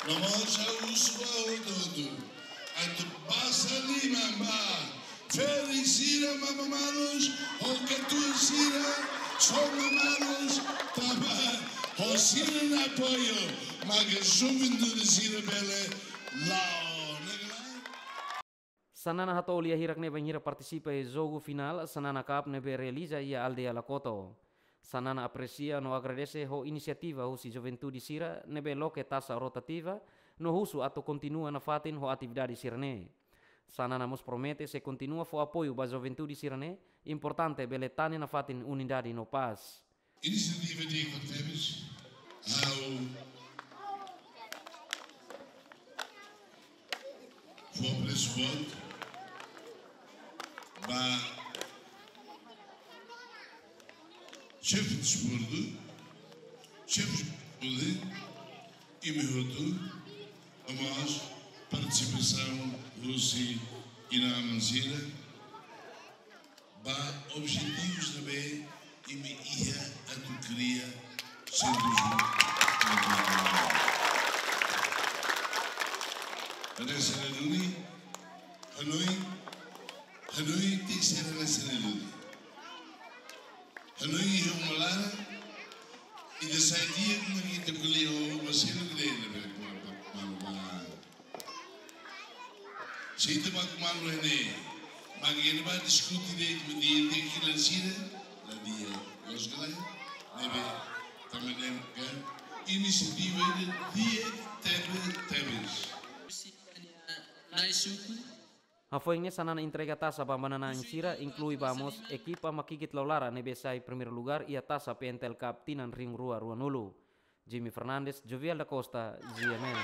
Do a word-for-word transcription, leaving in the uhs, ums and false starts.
No mós ha'u husu ba hotu-hotu atu basa liman ba ferik sira, mama-malus, ho katuas sira, sona-malus, tanba ho sira-nia apoiu maka juventude sira bele la'o. Ne'e ka lae? Xanana hato'o lia hirak ne'e bainhira partisipa iha jogu finál Xanana Cup ne'ebé realiza iha aldeia Lakoto. Xanana apresia no agradese ho inisiativa husi juventude sira ne'ebé loke taxa rotativa no husu atu kontinua nafatin ho atividade sira-ne'e. Xanana mós promete sei kontinua fó apoiu ba juventude sira-ne'e, importante bele tane nafatin unidade no pás. Inisiativa di'ak tebes, ha'u fó apresu boot ba xefe desportu, xefe desportu, imi hotu, no mós partisipasaun husi inan-aman sira, ba objetivus ne'ebé imi iha atu kria sentru. Hanesan ne'e duni, hanoin, hanoin tenke ser hanesan ne'e duni. Hanoin iha uma laran, ita sai di'ak, mak ita ko'alia ho uma seluk de'it ne'ebé kuar ba malu ba. Se ita bá ku malu ne'e, mak ita bá diskute de'it mak di'ak, tenke kilar sira la di'ak. Loos ka lae? Ne'ebé, tanba ne'e ka, inisiativa ida di'ak tebes, tebes. Nai suku. Hafoin ne'e Xanana entrega taxa ba manán-na'in sira, inklui ba mós ekipa Makikit Laulara ne'ebé sai primeiru lugar iha taxa P N T L Cup tinan rihun rua ruanulu. Jimmy Fernandes, Jovial da Costa, G M N.